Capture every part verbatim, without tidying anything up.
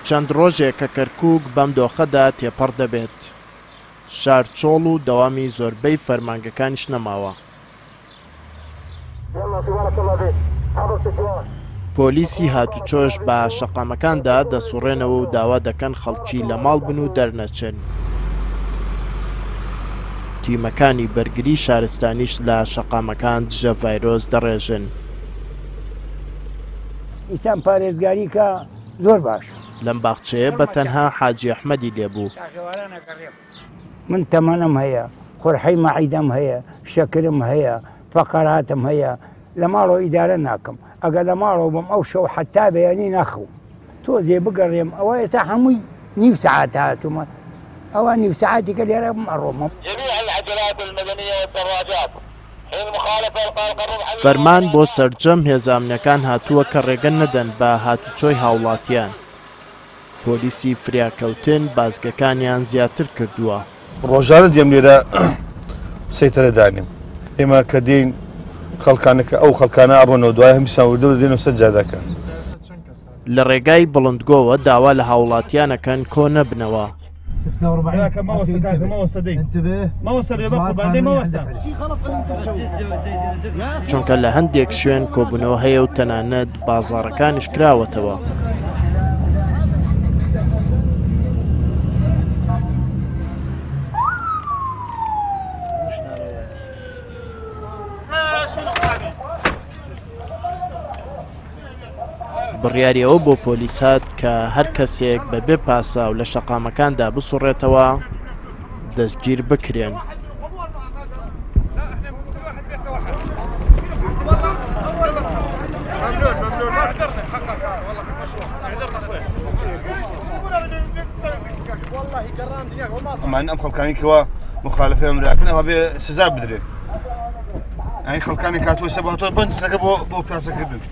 چەند ڕۆژێک کە کەرکووک بەم دۆخەدا تێپەڕ دەبێت. شار چۆڵ و دەوامی زۆربەی فەرمانگەکانیش نەماوە. پۆلیسی هاتوچۆش بە شەقامەکاندا دەسوڕێنەوە و داوا دەکەن خەڵکی لە ماڵ بن و دەرنەچن. تیمەکانی بەرگری شارستانیش لە شەقامەکان دژە ڤایرۆس دەڕێژن. ئینسان پارێزگاری کە زۆر باشە. لەم باخچەیە بە تەنها حاجی ئەحمەدی لێبوو. من تەمەنم هەیە، قورحەی مەعیدەم هەیە، شەکرم هەیە، فەقەراتم هەیە، لە ماڵەوە ئیدارە ناکەم. ئەگەر لە ماڵەوە بم ئەو شەو حەتا بەیانی ناخەوم. تۆزێ بگەڕێم ئەوە ئێستا هەمووی نیو سەعات هاتوومە، ئەوە نیو سەعاتی کە لێرە بم ئەڕۆمە. فەرمان بۆ سەرجەم هێزە ئەمنیەکان هاتووە کە ڕێگە نەدەن بە هاتوچۆی هاوڵاتیان. پۆلیسی فریاکەوتن بازگەکانیان زیاتر کردووە. ڕۆژانە دێم لێرە سەیتەرە دانیم. ئێمە کە دێین خەڵکانەکە ئەو خەڵکانە ئەڕۆنەوە دوای هەمیسان وردە دێنەوە سەر جادەکە. لە ڕێگای بڵندگۆوە داوا لە هاوڵاتیانەکەن کۆ نەبنەوە. چونکە لە هەندێک شوێن کۆبوونەوە هەیە و تەنانەت بازاڕەکانیش کراوەتەوە. بڕیاری ئەوە بۆ پۆلیس هات کە هەر کەسێک بەبێ پاساو لە شەقامەکاندا بسوڕێتەوە دەستگیر بکرێن. ئەمان ئەم خەڵکانی کەوا مخالفەی ئەمراکەن ئەوە بێ سزا بدرێت. ئەی خەڵکانی کاتوە سەباتەوە بەنجسەکە بۆ بۆ پیاسەکردن.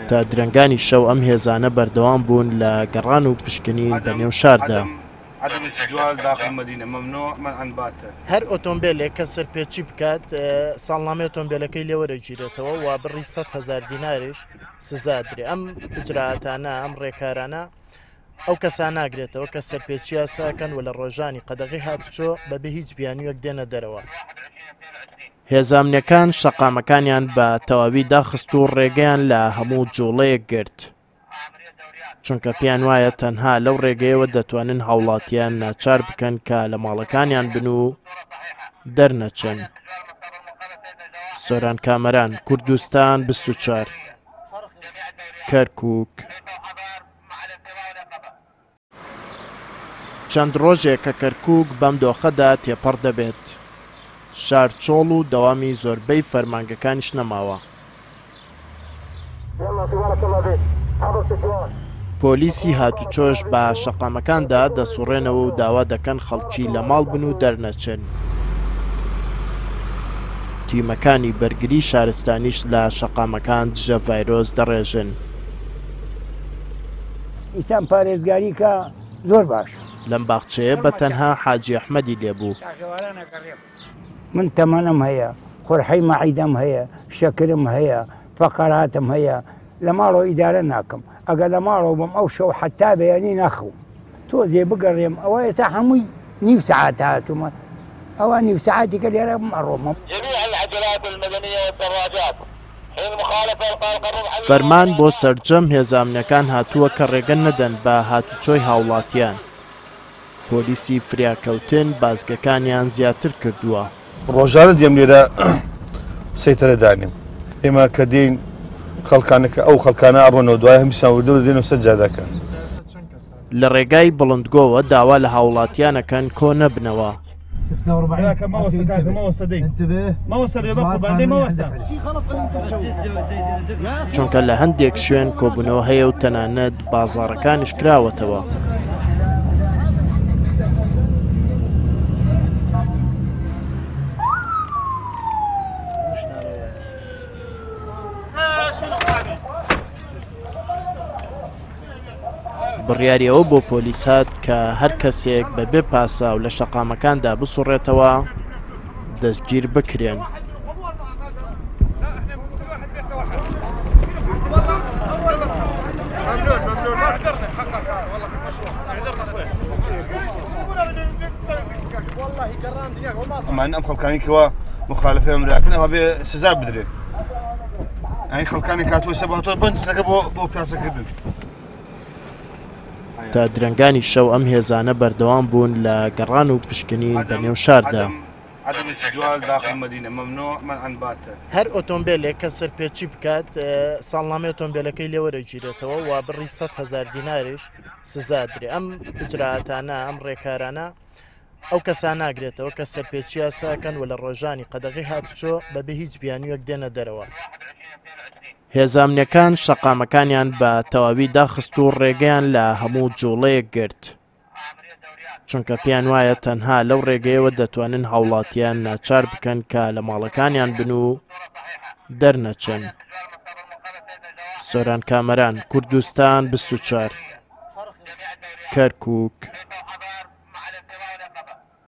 تا درەنگانی شەو ئەم هێزانە بەردەوام بوون لە گەڕان و پشکنین بە نێو شاردا. هەر ئۆتۆمبیلێک کە سەرپێچی بکات ساڵنامەی ئۆتۆمبیلەکەی لێوەرەگیرێتەوە و بڕی سەد هەزار دیناریش سزا درێ. ئەم ئیجرائاتانە، ئەم ڕێکارانە ئەو کەسان ناگرێتەوە کە سەرپێچی یاساکەن و لە ڕۆژانی قەدەغی هاتوچۆ بەبێ هیچ بیانوویەک دێنە دەرەوە. هێزە ئەمنیەکان شەقامەکانیان بە تەواوی داخست و ڕێگەیان لە هەموو جوڵەیەک گرت، چونکە پێیان وایە تەنها لەو ڕێگەیەوە دەتوانن هاوڵاتیان ناچار بکەن کە لە ماڵەکانیان بن و دەرنەچن. سۆران کامەران، کوردستان بیست و چوار، کەرکووک. چەند ڕۆژێک کە کەرکووک بەم دۆخەدا تێپەڕ دەبێت. شار چۆڵ و دەوامی زۆربەی فەرمانگەکانیش نەماوە. پۆلیسی هاتوچۆش بە شەقامەکاندا دەسوڕێنەوە و داوا دەکەن خەڵکی لە ماڵ بن و دەرنەچن. تیمەکانی بەرگری شارستانیش لە شەقامەکان دژە ڤایرۆس دەڕێژن. ئینسان پارێزگاری کە زۆر باشە. لەم باخچەیە بە تەنها حاجی ئەحمەدی لێبوو. من تەمەنم هەیە، قورحەی مەعیدەم هەیە، شەکرم هەیە، فەقەراتم هەیە، لە ماڵەوە ئیدارە ناکەم. ئەگەر لە ماڵەوە بم ئەو شەو حەتا بەیانی ناخەوم. تۆزێ بگەڕێم ئەوە ئێستا هەمووی نیو سەعات هاتوومە، ئەوە نیو سەعاتی کە لێرە بم ئەڕۆمە. فەرمان بۆ سەرجەم هێزە ئەمنیەکان هاتووە کە ڕێگە نەدەن بە هاتوچۆی هاوڵاتیان. پۆلیسی فریاکەوتن بازگەکانیان زیاتر کردووە. ڕۆژانە دێم لێرە سەیتەرە دانیم. ئێمە کە دێین خەڵکانەکە ئەو خەڵکانە ئەڕۆنەوە دوای هەمیسان وردە دێنەوە سەر جادەکە. لە ڕێگای بڵندگۆوە داوا لە هاوڵاتیانەکەن کۆ نەبنەوە. چونکە لە هەندێک شوێن کۆبوونەوە هەیە و تەنانەت بازاڕەکانیش کراوەتەوە. بڕیاری ئەوە بۆ پۆلیس هات کە هەر کەسێک بەبێ پاساو لە شەقامەکاندا بسوڕێتەوە دەستگیر بکرێن. ئەمان ئەم خەڵکانی کەوا مخالفەی ئەمراکن ئەوە بێ سزا بدرێ. ئەین خەڵکانی کاتوە سە بە بەند بۆ بۆ پیاسەکردن. تا درەنگانی شەو ئەم هێزانە بەردەوام بوون لە گەڕان و پشکنین بە نێو شاردا. هەر ئۆتۆمبیلێک کە سەرپێچی بکات ساڵنامەی ئۆتۆمبیلەکەی لێوەرەگیرێتەوە و بڕی سەد هەزار دیناریش سزا درێ. ئەم ئیجرائاتانە، ئەم ڕێکارانە ئەو کەسان ناگرێتەوە کە سەرپێچی یاساکەن و لە ڕۆژانی قەدەغی هاتوچۆ بەبێ هیچ بیانوویەک دێنە دەرەوە. هێزامنیەکان شەقامەکانیان بە تەواوی داخست و ڕێگەیان لە هەموو جوڵەیەک گرت، چونکە پێیان وایە تەنها لەو ڕێگەیەوە دەتوانن هاوڵاتیان ناچار بکەن کە لە ماڵەکانیان بن و دەرنەچن. سۆران کامەران، کوردستان بیست و چوار، کەرکووک.